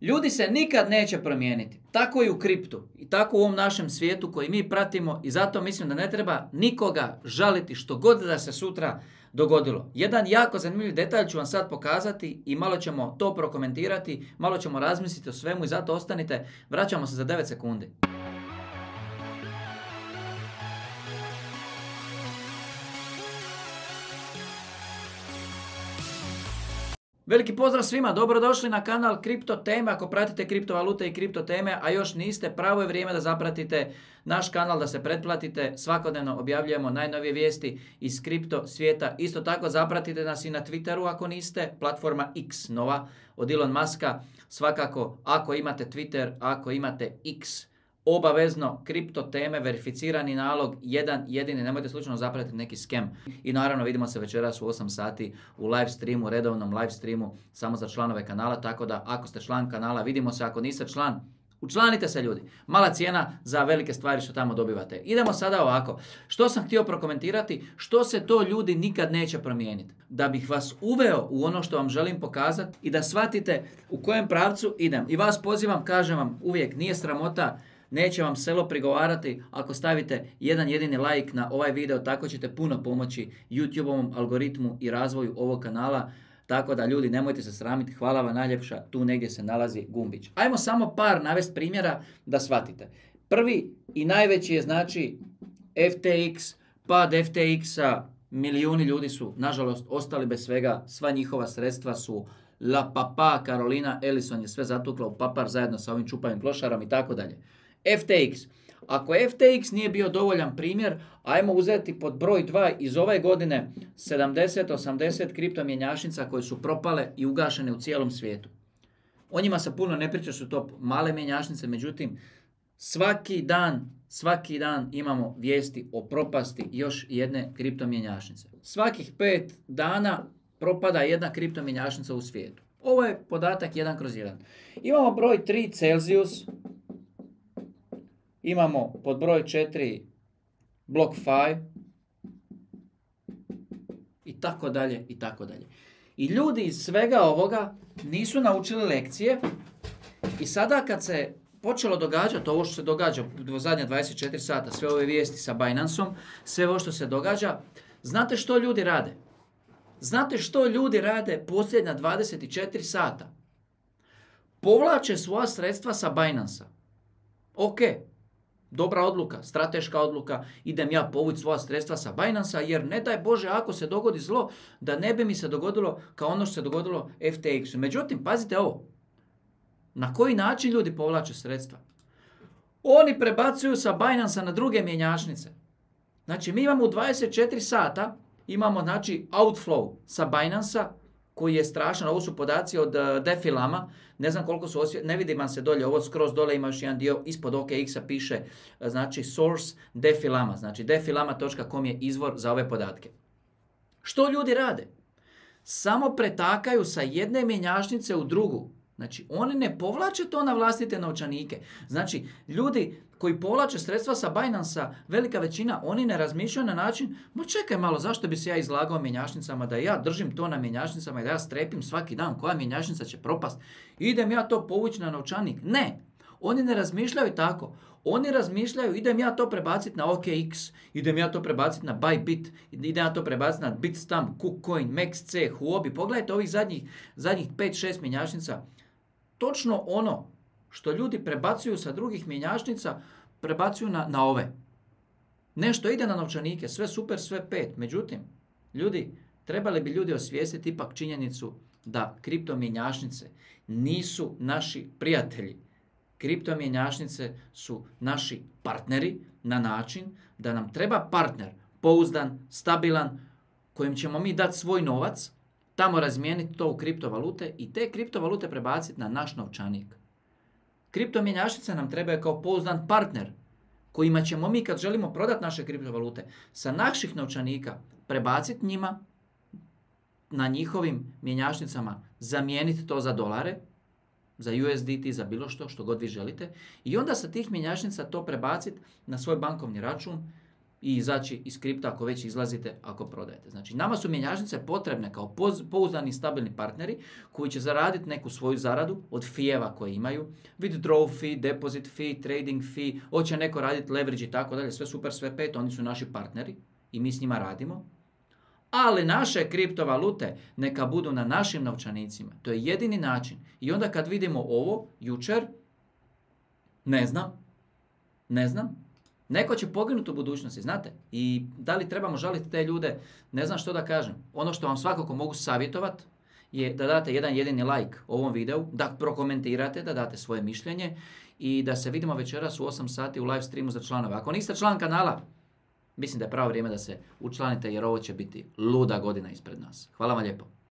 Ljudi se nikad neće promijeniti. Tako i u kriptu. I tako u ovom našem svijetu koji mi pratimo i zato mislim da ne treba nikoga žaliti što god da se sutra dogodilo. Jedan jako zanimljiv detalj ću vam sad pokazati i malo ćemo to prokomentirati, malo ćemo razmisliti o svemu i zato ostanite. Vraćamo se za 9 sekundi. Veliki pozdrav svima, dobrodošli na kanal Kripto Teme. Ako pratite kriptovalute i kripto teme, a još niste, pravo je vrijeme da zapratite naš kanal, da se pretplatite. Svakodnevno objavljujemo najnovije vijesti iz kripto svijeta. Isto tako zapratite nas i na Twitteru ako niste, platforma X nova od Elon Muska. Svakako ako imate Twitter, ako imate X, obavezno kripto teme, verificirani nalog, jedan jedini, nemojte slučajno zapratiti neki scam. I naravno vidimo se večeras u 8 sati u live streamu, redovnom live streamu samo za članove kanala, tako da ako ste član kanala vidimo se, ako niste član, učlanite se ljudi. Mala cijena za velike stvari što tamo dobivate. Idemo sada ovako. Što sam htio prokomentirati? Što se to ljudi nikad neće promijeniti? Da bih vas uveo u ono što vam želim pokazati i da shvatite u kojem pravcu idem. I vas pozivam, kažem vam uvijek, nije sramota, neće vam selo prigovarati ako stavite jedan jedini like na ovaj video, tako ćete puno pomoći YouTube-ovom algoritmu i razvoju ovog kanala. Tako da ljudi, nemojte se sramiti, hvala vam najljepša, tu negdje se nalazi gumbić. Ajmo samo par navest primjera da shvatite. Prvi i najveći je znači FTX, pad FTX-a, milijuni ljudi su nažalost ostali bez svega, sva njihova sredstva su La Papa, Carolina Ellison je sve zatukla u papar zajedno sa ovim čupavim klošarom i tako dalje. FTX. Ako FTX nije bio dovoljan primjer, ajmo uzeti pod broj 2 iz ove godine 70-80 kriptomjenjačnica koje su propale i ugašene u cijelom svijetu. O njima se puno ne priča, su to male mjenjačnice, međutim svaki dan imamo vijesti o propasti još jedne kriptomjenjačnice. Svakih 5 dana propada jedna kriptomjenjačnica u svijetu. Ovo je podatak 1/1. Imamo broj 3 Celsius. Imamo pod broj 4 BlockFi i tako dalje i tako dalje. I ljudi iz svega ovoga nisu naučili lekcije i sada kad se počelo događati ovo što se događa u zadnja 24 sata, sve ove vijesti sa Binanceom, sve ovo što se događa, znate što ljudi rade? Znate što ljudi rade posljednja 24 sata? Povlače svoja sredstva sa Binance-a. Ok. Dobra odluka, strateška odluka, idem ja povući svoja sredstva sa Binance-a jer ne daj Bože ako se dogodi zlo da ne bi mi se dogodilo kao ono što se dogodilo FTX-u. Međutim, pazite ovo, na koji način ljudi povlače sredstva? Oni prebacuju sa Binance-a na druge mjenjačnice. Znači mi imamo u 24 sata, imamo znači outflow sa Binance-a koji je strašan, ovo su podaci od Defilama, ne znam koliko su ne vidi vam se dolje, ovo skroz dole ima još jedan dio, ispod OKX-a piše, znači source Defilama, znači defilama.com je izvor za ove podatke. Što ljudi rade? Samo pretakaju sa jedne mjenjačnice u drugu. Znači, oni ne povlače to na vlastite novčanike. Znači, ljudi koji povlače sredstva sa Binance-a, velika većina, oni ne razmišljaju na način, ma čekaj malo, zašto bi se ja izlagao mjenjačnicama, da ja držim to na mjenjačnicama i da ja strepim svaki dan koja mjenjačnica će propast. Idem ja to povući na novčanik. Ne, oni ne razmišljaju tako. Oni razmišljaju, idem ja to prebaciti na OKX, idem ja to prebaciti na Bybit, idem ja to prebaciti na Bitstamp, KuCoin, MaxC, Huobi. Pogledajte ovih zadnjih 5-6 mjenjačnica. Točno ono što ljudi prebacuju sa drugih mjenjačnica, prebacuju na ove. Nešto ide na novčanike, sve super, sve 5. Međutim, ljudi, trebali bi ljudi osvijestiti ipak činjenicu da kriptomjenjačnice nisu naši prijatelji. Kriptomjenjačnice su naši partneri na način da nam treba partner pouzdan, stabilan, kojim ćemo mi dati svoj novac, tamo razmijeniti to u kriptovalute i te kriptovalute prebaciti na naš novčanik. Kriptomjenjačnice nam trebaju kao pouzdan partner kojima ćemo mi kad želimo prodati naše kriptovalute sa naših novčanika prebaciti njima na njihovim mjenjačnicama, zamijeniti to za dolare, za USDT, za bilo što god vi želite i onda sa tih mjenjačnica to prebaciti na svoj bankovni račun i izaći iz kripta ako već izlazite, ako prodajete. Znači, nama su mjenjačnice potrebne kao pouzdani i stabilni partneri koji će zaraditi neku svoju zaradu od fijeva koje imaju, withdraw fee, deposit fee, trading fee, hoće neko raditi leverage i tako dalje, sve super, sve pet, oni su naši partneri i mi s njima radimo. Ali naše kriptovalute neka budu na našim novčanicima. To je jedini način. I onda kad vidimo ovo, jučer, ne znam, neko će poginuti u budućnosti, znate? I da li trebamo žaliti te ljude, ne znam što da kažem. Ono što vam svakako mogu savjetovati je da date jedan jedini like ovom videu, da prokomentirate, da date svoje mišljenje i da se vidimo večeras u 8 sati u live streamu za članove. Ako niste član kanala, mislim da je pravo vrijeme da se učlanite jer ovo će biti luda godina ispred nas. Hvala vam lijepo.